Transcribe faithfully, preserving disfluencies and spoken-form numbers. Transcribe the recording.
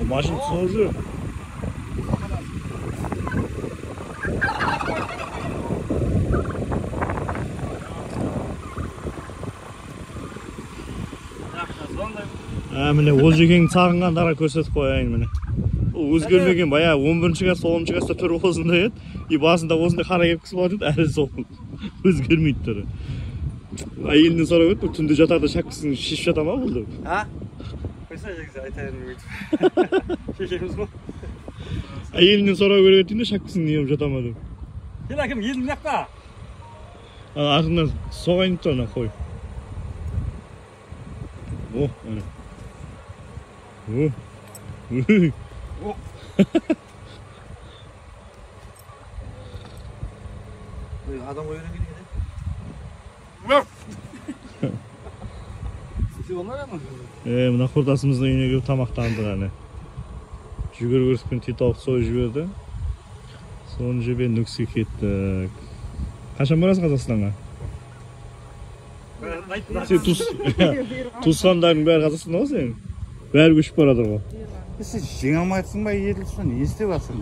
Машина созу. А міне Олжекеңдин сагынгандарын көрсөтүп коеюн міне. Өзгөрмөгөн баягы он биринчи класста, он экинчи класста төрбосунда эт. И басында осындай кара кепкеси бар эт, әлі сол. Өзгөрмөйт түрү. Айылдын сурап өтүп, түндө жатарда шаккысын шишип жата ма бул деп. А? Койсо жегиз айтайын бүйтүп. Шешемиз го. Айылдын сурап көрөт дейм да шаккысын неме жата ма деп. Кел аким, элдин жакта. А артынан согайын да ана кой. О, ана. О. О. Адам койгон керек эле. Сиз болмайбы? Э, мына курдасымыздын үйүнө келип тамактандык аны. Жүгөргөрүспүн титок сой жиберди. Сону жеп нүксү кеттик. Качан барасың Казакстанга? Сен тус тускандардын баары Казакстанда сен? Баары көчүп барадыр го. Сен жеңе алмайсың ба, едил ушуну? Не істеп атсың?